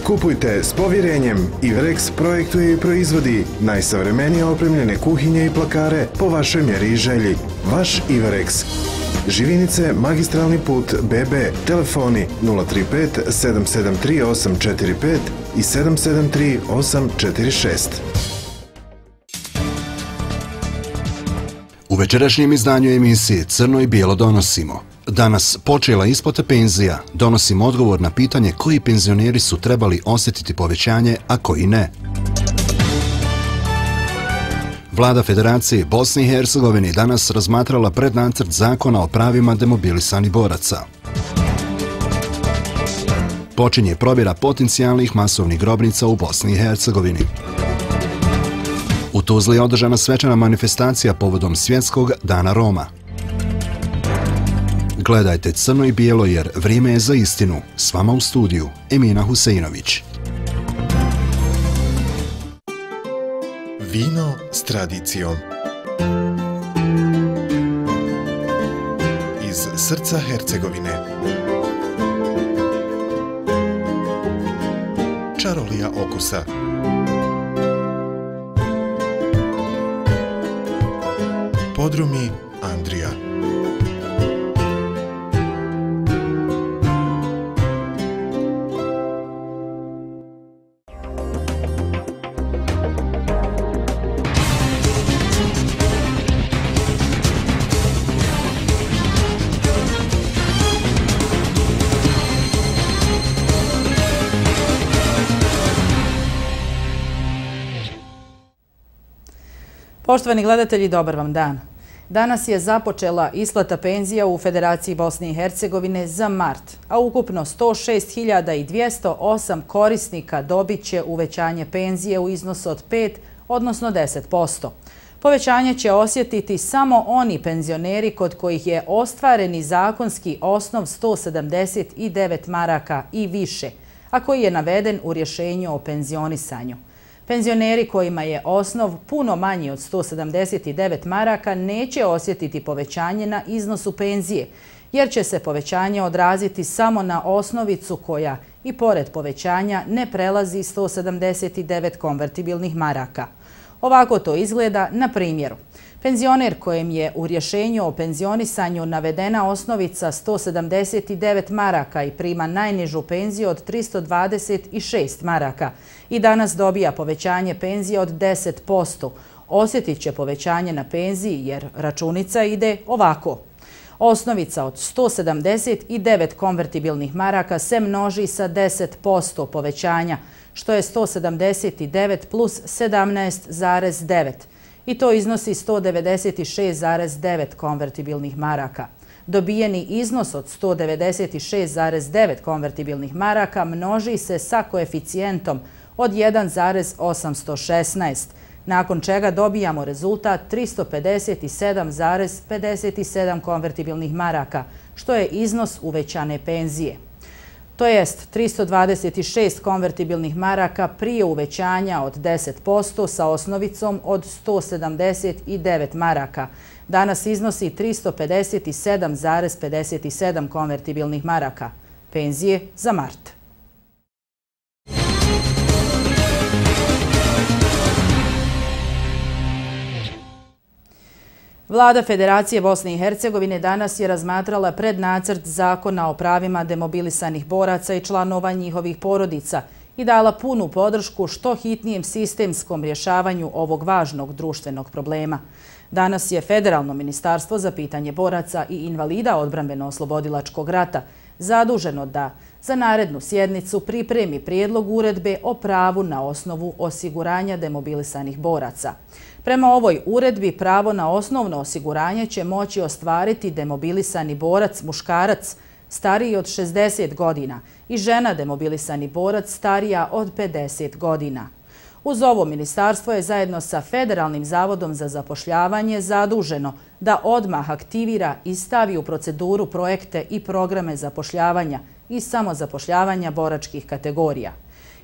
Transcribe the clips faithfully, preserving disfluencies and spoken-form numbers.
Kupujte s povjerenjem. Iverex projektuje i proizvodi najsavremenije opremljene kuhinje i plakare po vašoj mjeri i želji. Vaš Iverex. Živinice, magistralni put B B, telefoni nula tri pet sedam sedam tri osam četiri pet i sedam sedam tri osam četiri šest. U večerašnjem izdanju emisije Crno i bijelo donosimo. Danas počela isplata penzija. Donosimo odgovor na pitanje koji penzioneri su trebali osjetiti povećanje, a koji ne. Vlada Federacije Bosne i Hercegovine danas razmatrala prednacrt zakona o pravima demobilisanih boraca. Počinje probjera potencijalnih masovnih grobnica u Bosni i Hercegovini. U Tuzli je održana svečana manifestacija povodom Svjetskog dana Roma. Gledajte Crno i bijelo jer vrijeme je za istinu. S vama u studiju Emina Huseinović. Vino s tradicijom. Iz srca Hercegovine. Čarolija okusa. Podrumi Andrija. Poštovani gledatelji, dobar vam dan. Danas je započela isplata penzija u Federaciji Bosne i Hercegovine za mart, a ukupno sto šest hiljada dvjesto osam korisnika dobit će uvećanje penzije u iznosu od pet, odnosno deset posto. Povećanje će osjetiti samo oni penzioneri kod kojih je ostvareni zakonski osnov sto sedamdeset devet maraka i više, a koji je naveden u rješenju o penzionisanju. Penzioneri kojima je osnov puno manji od sto sedamdeset devet maraka neće osjetiti povećanje na iznosu penzije, jer će se povećanje odraziti samo na osnovicu koja i pored povećanja ne prelazi sto sedamdeset devet konvertibilnih maraka. Ovako to izgleda na primjeru. Penzioner kojem je u rješenju o penzionisanju navedena osnovica sto sedamdeset devet maraka i prima najnižu penziju od tristo dvadeset šest maraka i danas dobija povećanje penzije od deset posto. Osjetit će povećanje na penziji jer računica ide ovako. Osnovica od sto sedamdeset devet konvertibilnih maraka se množi sa deset posto povećanja, što je sto sedamdeset devet plus sedamnaest zarez devet. I to iznosi sto devedeset šest zarez devet konvertibilnih maraka. Dobijeni iznos od sto devedeset šest zarez devet konvertibilnih maraka množi se sa koeficijentom od jedan zarez osamsto šesnaest, nakon čega dobijamo rezultat tristo pedeset sedam zarez pedeset sedam konvertibilnih maraka, što je iznos uvećane penzije. To jest tristo dvadeset šest konvertibilnih maraka prije uvećanja od deset posto sa osnovicom od sto sedamdeset devet maraka. Danas iznosi tristo pedeset sedam zarez pedeset sedam konvertibilnih maraka. Penzije za mart. Vlada Federacije Bosne i Hercegovine danas je razmatrala prednacrt zakona o pravima demobilisanih boraca i članova njihovih porodica i dala punu podršku što hitnijem sistemskom rješavanju ovog važnog društvenog problema. Danas je Federalno ministarstvo za pitanje boraca i invalida odbrambeno-oslobodilačkog rata zaduženo da za narednu sjednicu pripremi prijedlog uredbe o pravu na osnovu osiguranja demobilisanih boraca. Prema ovoj uredbi pravo na osnovno osiguranje će moći ostvariti demobilisani borac muškarac stariji od šezdeset godina i žena demobilisani borac starija od pedeset godina. Uz ovo ministarstvo je zajedno sa Federalnim zavodom za zapošljavanje zaduženo da odmah aktivira i stavi u proceduru projekte i programe zapošljavanja i samozapošljavanja boračkih kategorija.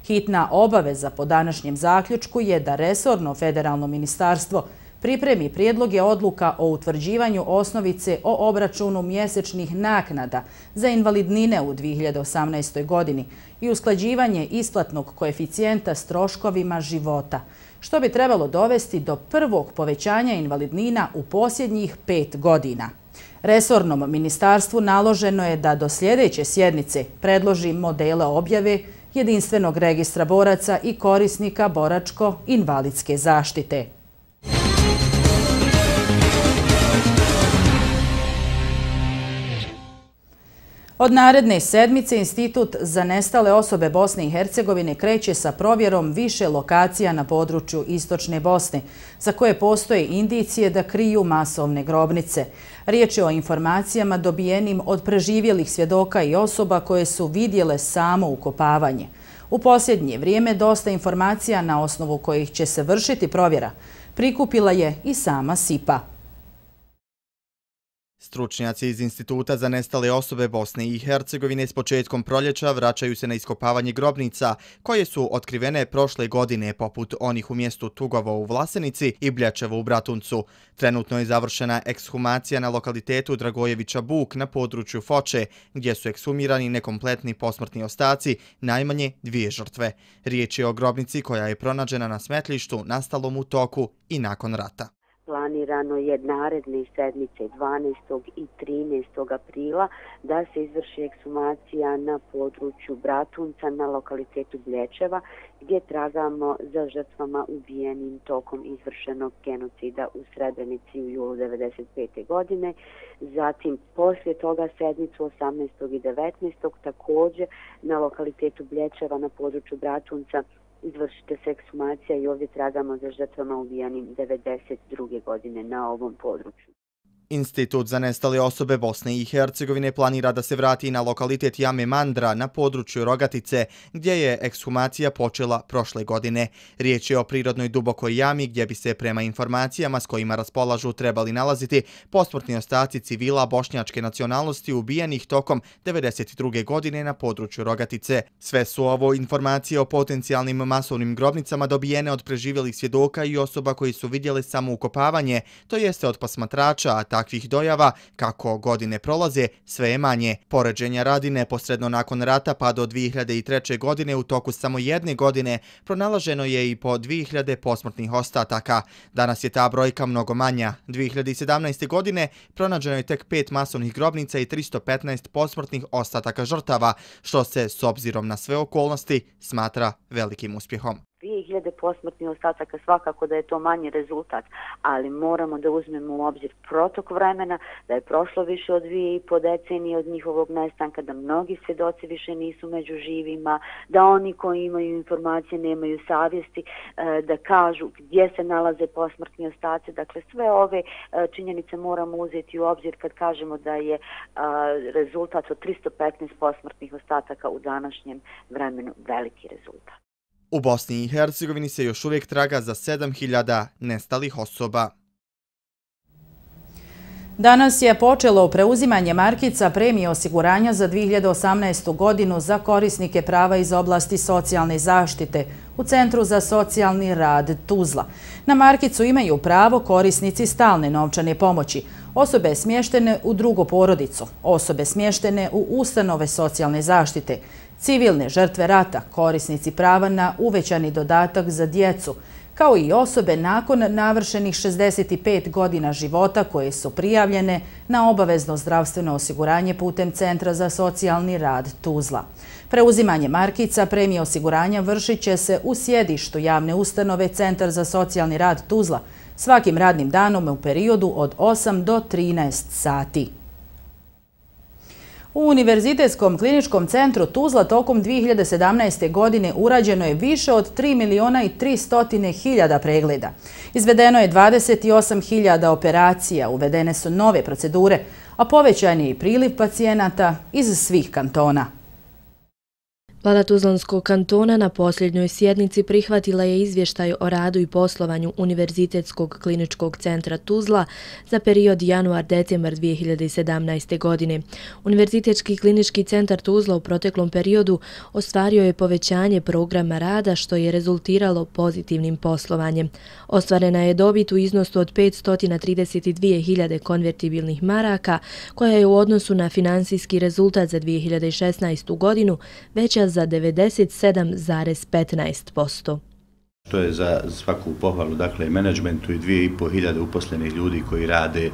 Hitna obaveza po današnjem zaključku je da resorno federalno ministarstvo pripremi prijedloge odluka o utvrđivanju osnovice o obračunu mjesečnih naknada za invalidnine u dvije hiljade osamnaestoj godini i usklađivanje isplatnog koeficijenta s troškovima života, što bi trebalo dovesti do prvog povećanja invalidnina u posljednjih pet godina. Resornom ministarstvu naloženo je da do sljedeće sjednice predloži modele objave jedinstvenog registra boraca i korisnika boračko-invalidske zaštite. Od naredne sedmice Institut za nestale osobe Bosne i Hercegovine kreće sa provjerom više lokacija na području Istočne Bosne, za koje postoje indicije da kriju masovne grobnice. Riječ je o informacijama dobijenim od preživjelih svjedoka i osoba koje su vidjele samo ukopavanje. U posljednje vrijeme dosta informacija na osnovu kojih će se vršiti provjera prikupila je i sama S I P A. Stručnjaci iz Instituta za nestale osobe Bosne i Hercegovine s početkom proljeća vraćaju se na iskopavanje grobnica koje su otkrivene prošle godine poput onih u mjestu Tugovo u Vlasenici i Bljećevo u Bratuncu. Trenutno je završena ekshumacija na lokalitetu Dragojevića Buk na području Foče, gdje su ekshumirani nekompletni posmrtni ostaci, najmanje dvije žrtve. Riječ je o grobnici koja je pronađena na smetlištu nastalom u toku i nakon rata. Planirano je naredne sedmice dvanaestog i trinaestog aprila da se izvrši ekshumacija na području Bratunca na lokalitetu Bljećeva, gdje tragamo za žrtvama ubijenim tokom izvršenog genocida u Srebrenici u julu devedeset pete. godine. Zatim, poslije toga sedmicu osamnaestog i devetnaestog također na lokalitetu Bljećeva na području Bratunca izvršite se ekshumacija i ovdje tragamo za žrtvama ubijanim devedeset druge. godine na ovom području. Institut za nestale osobe Bosne i Hercegovine planira da se vrati na lokalitet Jame Mandra na području Rogatice, gdje je ekshumacija počela prošle godine. Riječ je o prirodnoj dubokoj jami gdje bi se prema informacijama s kojima raspolažu trebali nalaziti posmrtni ostaci civila bošnjačke nacionalnosti ubijenih tokom devedeset druge. godine na području Rogatice. Sve su ovo informacije o potencijalnim masovnim grobnicama dobijene od preživjelih svjedoka i osoba koji su vidjeli samo ukopavanje, to jeste od posmatrača, a takvih dojava, kako godine prolaze, sve je manje. Poređenja radi, neposredno nakon rata pa do dvije hiljade treće. godine u toku samo jedne godine pronalaženo je i po dvije hiljade posmrtnih ostataka. Danas je ta brojka mnogo manja. dvije hiljade sedamnaeste. godine pronađeno je tek pet masovnih grobnica i tristo petnaest posmrtnih ostataka žrtava, što se, s obzirom na sve okolnosti, smatra velikim uspjehom. dvije hiljade posmrtnih ostataka, svakako da je to manji rezultat, ali moramo da uzmemo u obzir protok vremena, da je prošlo više od dvije i po decenije od njihovog nestanka, da mnogi svjedoci više nisu među živima, da oni koji imaju informacije nemaju savjesti da kažu gdje se nalaze posmrtni ostaci. Dakle, sve ove činjenice moramo uzeti u obzir kad kažemo da je rezultat od tristo petnaest posmrtnih ostataka u današnjem vremenu veliki rezultat. U Bosni i Hercegovini se još uvijek traga za sedam hiljada nestalih osoba. Danas je počelo preuzimanje markica premije osiguranja za dvije hiljade osamnaestu. godinu za korisnike prava iz oblasti socijalne zaštite u Centru za socijalni rad Tuzla. Na markicu imaju pravo korisnici stalne novčane pomoći, osobe smještene u drugu porodicu, osobe smještene u ustanove socijalne zaštite, civilne žrtve rata, korisnici prava na uvećani dodatak za djecu, kao i osobe nakon navršenih šezdeset pet godina života koje su prijavljene na obavezno zdravstveno osiguranje putem Centra za socijalni rad Tuzla. Preuzimanje markica premije osiguranja vršit će se u sjedištu javne ustanove Centar za socijalni rad Tuzla svakim radnim danom u periodu od osam do trinaest sati. U Univerzitetskom kliničkom centru Tuzla tokom dvije hiljade sedamnaeste. godine urađeno je više od tri miliona i tristo hiljada pregleda. Izvedeno je dvadeset osam hiljada operacija, uvedene su nove procedure, a povećan je i priliv pacijenata iz svih kantona. Vlada Tuzlanskog kantona na posljednjoj sjednici prihvatila je izvještaj o radu i poslovanju Univerzitetskog kliničkog centra Tuzla za period januar-decembar dvije hiljade sedamnaeste. godine. Univerzitetski klinički centar Tuzla u proteklom periodu ostvario je povećanje programa rada što je rezultiralo pozitivnim poslovanjem. Ostvarena je dobit u iznosu od petsto trideset dvije hiljade konvertibilnih maraka koja je u odnosu na finansijski rezultat za dvije hiljade šesnaestu. godinu veća za devedeset sedam zarez petnaest posto. To je za svaku pohvalu, dakle, menadžmentu i dvije i po hiljade uposlenih ljudi koji rade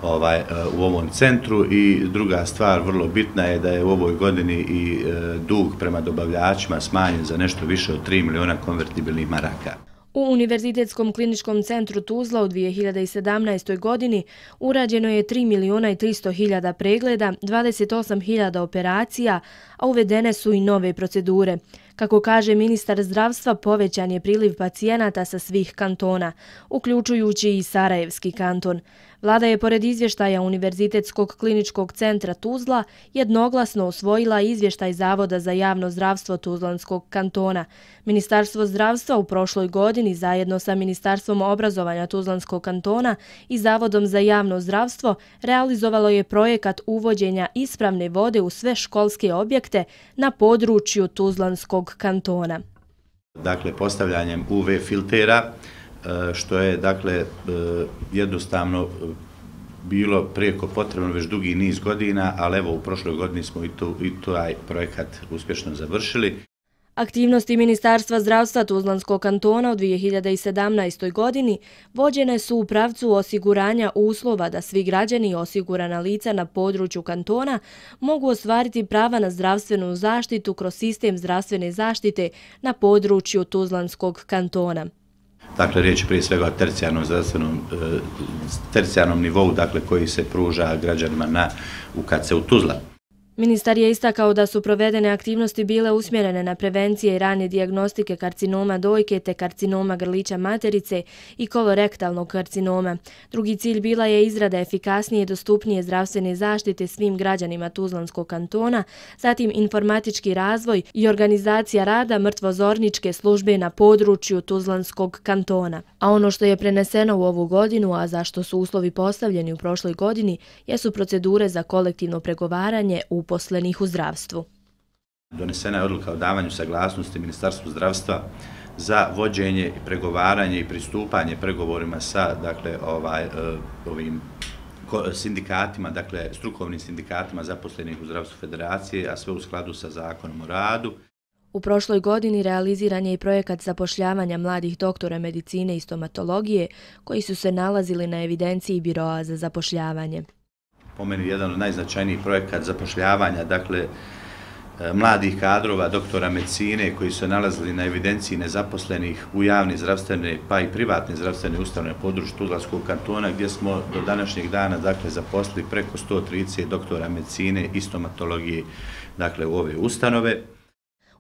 ovaj, u ovom centru i druga stvar vrlo bitna je da je u ovoj godini i dug prema dobavljačima smanjen za nešto više od tri miliona konvertibilnih maraka. U Univerzitetskom kliničkom centru Tuzla u dvije hiljade sedamnaestoj. godini urađeno je tri miliona i tristo hiljada pregleda, dvadeset osam hiljada operacija, a uvedene su i nove procedure. Kako kaže ministar zdravstva, povećan je priliv pacijenata sa svih kantona, uključujući i Sarajevski kanton. Vlada je pored izvještaja Univerzitetskog kliničkog centra Tuzla jednoglasno usvojila izvještaj Zavoda za javno zdravstvo Tuzlanskog kantona. Ministarstvo zdravstva u prošloj godini zajedno sa Ministarstvom obrazovanja Tuzlanskog kantona i Zavodom za javno zdravstvo realizovalo je projekat uvođenja ispravne vode u sve školske objekte na području Tuzlanskog kantona. Dakle, postavljanjem U V filtera, što je, dakle, jednostavno bilo prijeko potrebno već dugi niz godina, ali evo u prošloj godini smo i taj projekat uspješno završili. Aktivnosti Ministarstva zdravstva Tuzlanskog kantona u dvije hiljade sedamnaestoj. godini vođene su u pravcu osiguranja uslova da svi građani i osigurana lica na području kantona mogu ostvariti prava na zdravstvenu zaštitu kroz sistem zdravstvene zaštite na području Tuzlanskog kantona. Dakle, riječ je prije svega o tercijarnom zdravstvenom, tercijarnom nivou, dakle, koji se pruža građanima na U K C-u Tuzla. Ministar je istakao da su provedene aktivnosti bile usmjerene na prevencije i rane dijagnostike karcinoma dojke te karcinoma grlića materice i kolorektalnog karcinoma. Drugi cilj bila je izrada efikasnije i dostupnije zdravstvene zaštite svim građanima Tuzlanskog kantona, zatim informatički razvoj i organizacija rada mrtvozorničke službe na području Tuzlanskog kantona. A ono što je preneseno u ovu godinu, a za što su uslovi postavljeni u prošloj godini, jesu procedure za kolektivno pregovaranje u uposlenih u zdravstvu. Donesena je odluka o davanju saglasnosti Ministarstvu zdravstva za vođenje, pregovaranje i pristupanje pregovorima sa, dakle, ovaj, ovim sindikatima, dakle, strukovnim sindikatima zaposlenih u zdravstvu federacije, a sve u skladu sa zakonom o radu. U prošloj godini realiziran je i projekat zapošljavanja mladih doktora medicine i stomatologije koji su se nalazili na evidenciji Biroa za zapošljavanje. Po meni jedan od najznačajnijih projekata zapošljavanja, dakle, mladih kadrova, doktora medicine koji su nalazili na evidenciji nezaposlenih u javne zdravstvene pa i privatne zdravstvene ustanove na području Tuzlanskog kantona, gdje smo do današnjeg dana, dakle, zaposlili preko sto trideset doktora medicine i stomatologije, dakle, u ove ustanove.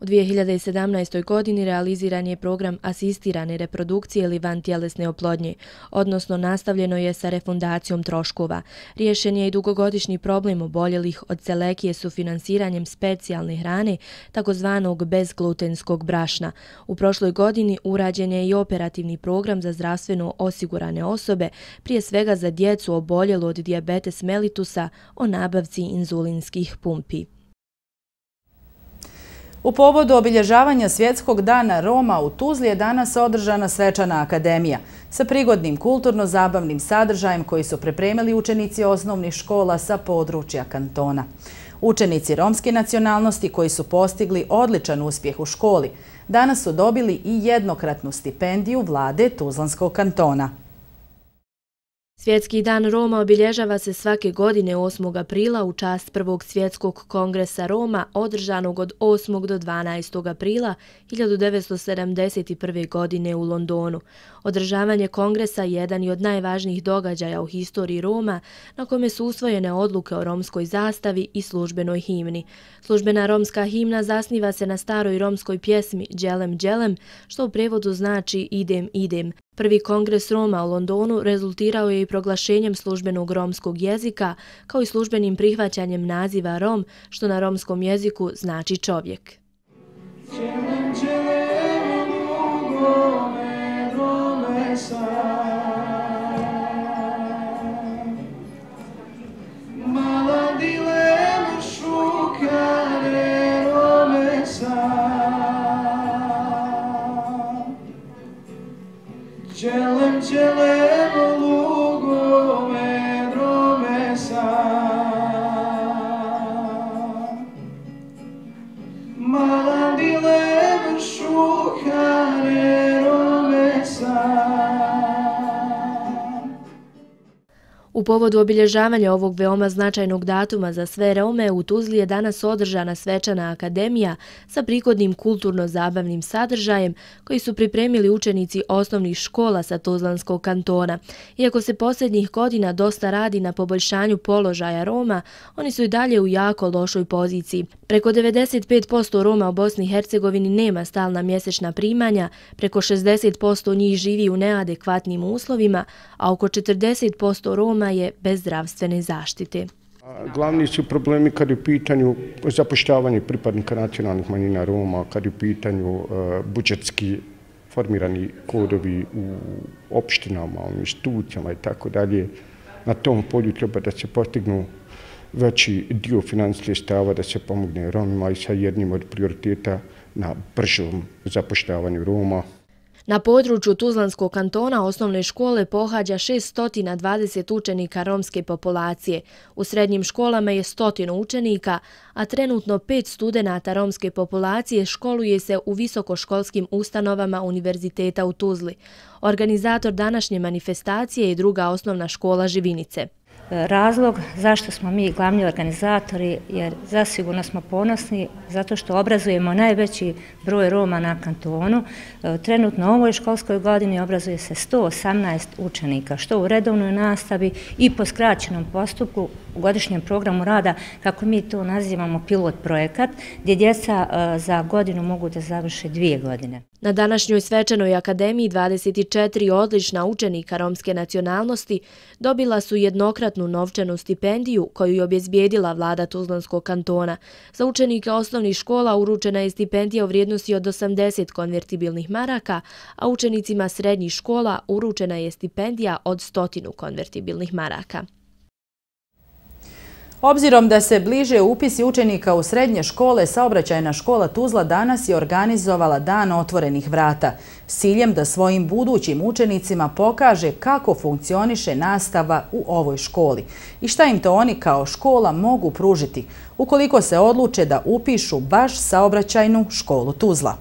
U dvije hiljade sedamnaestoj. godini realiziran je program asistirane reprodukcije ili vantjelesne oplodnje, odnosno nastavljeno je sa refundacijom troškova. Riješen je i dugogodišnji problem oboljelih od celekije sufinansiranjem specijalne hrane, takozvanog bezglutenskog brašna. U prošloj godini urađen je i operativni program za zdravstveno osigurane osobe, prije svega za djecu oboljelu od dijabetes mellitusa, o nabavci inzulinskih pumpi. U povodu obilježavanja Svjetskog dana Roma u Tuzli je danas održana svečana akademija sa prigodnim kulturno-zabavnim sadržajem koji su pripremili učenici osnovnih škola sa područja kantona. Učenici romske nacionalnosti koji su postigli odličan uspjeh u školi danas su dobili i jednokratnu stipendiju vlade Tuzlanskog kantona. Svjetski dan Roma obilježava se svake godine osmog aprila u čast prvog svjetskog kongresa Roma održanog od osmog do dvanaestog aprila hiljadu devetsto sedamdeset prve. godine u Londonu. Održavanje kongresa jedan je od najvažnijih događaja u historiji Roma na kome su usvojene odluke o romskoj zastavi i službenoj himni. Službena romska himna zasniva se na staroj romskoj pjesmi Đelem Đelem, što u prevodu znači idem idem. Prvi kongres Roma u Londonu rezultirao je i proglašenjem službenog romskog jezika, kao i službenim prihvaćanjem naziva Rom, što na romskom jeziku znači čovjek. U povodu obilježavanja ovog veoma značajnog datuma za sve Rome, u Tuzli je danas održana svečana akademija sa prigodnim kulturno-zabavnim sadržajem koji su pripremili učenici osnovnih škola sa Tuzlanskog kantona. Iako se posljednjih godina dosta radi na poboljšanju položaja Roma, oni su i dalje u jako lošoj poziciji. Preko devedeset pet posto Roma u Bosni i Hercegovini nema stalna mjesečna primanja, preko šezdeset posto njih živi u neadekvatnim uslovima, a oko četrdeset posto Roma je bez zdravstvene zaštite. Glavni su problemi kad je u pitanju zapošljavanje pripadnika nacionalnih manjina Roma, kad je u pitanju budžetski formirani kodovi u opštinama, u institucijama i tako dalje. Na tom polju treba da se postignu veći dio financijskih sredstava da se pomogne Romima i sa jednim od prioriteta na bržom zapošljavanju Roma. Na području Tuzlanskog kantona osnovne škole pohađa šesto dvadeset učenika romske populacije. U srednjim školama je stotinu učenika, a trenutno pet studenata romske populacije školuje se u visokoškolskim ustanovama Univerziteta u Tuzli. Organizator današnje manifestacije je druga osnovna škola Živinice. Razlog zašto smo mi glavni organizatori, jer zasigurno smo ponosni zato što obrazujemo najveći broj Roma na kantonu. Trenutno u ovoj školskoj godini obrazuje se sto osamnaest učenika, što u redovnoj nastavi i po skraćenom postupku u godišnjem programu rada, kako mi to nazivamo pilot projekat, gdje djeca za godinu mogu da završe dvije godine. Na današnjoj svečanoj akademiji dvadeset četiri odlična učenika romske nacionalnosti dobila su jednokratnu novčanu stipendiju koju je obezbijedila vlada Tuzlanskog kantona. Za učenike osnovnih škola uručena je stipendija u vrijednosti od osamdeset konvertibilnih maraka, a učenicima srednjih škola uručena je stipendija od stotinu konvertibilnih maraka. Obzirom da se bliže upisi učenika u srednje škole, Saobraćajna škola Tuzla danas je organizovala Dan otvorenih vrata s ciljem da svojim budućim učenicima pokaže kako funkcioniše nastava u ovoj školi i šta im to oni kao škola mogu pružiti ukoliko se odluče da upišu baš Saobraćajnu školu Tuzla.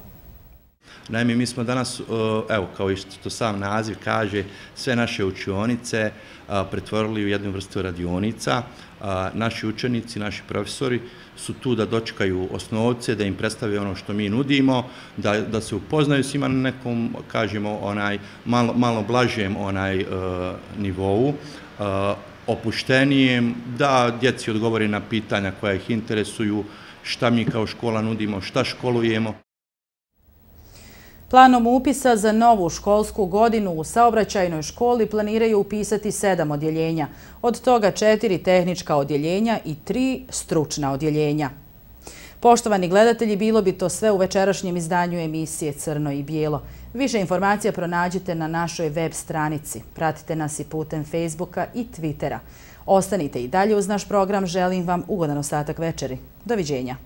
Naime, mi smo danas, evo, kao što sam naziv kaže, sve naše učionice pretvorili u jednu vrstu radionica. Naši učenici, naši profesori su tu da dočekaju osnovce, da im predstave ono što mi nudimo, da, da se upoznaju s njima na nekom, kažemo, onaj, malo, malo blažem onaj, uh, nivou, uh, opuštenijem, da djeci odgovori na pitanja koja ih interesuju, šta mi kao škola nudimo, šta školujemo. Planom upisa za novu školsku godinu u Saobraćajnoj školi planiraju upisati sedam odjeljenja, od toga četiri tehnička odjeljenja i tri stručna odjeljenja. Poštovani gledatelji, bilo bi to sve u večerašnjem izdanju emisije Crno i bijelo. Više informacija pronađite na našoj web stranici. Pratite nas i putem Facebooka i Twittera. Ostanite i dalje uz naš program. Želim vam ugodan ostatak večeri. Doviđenja.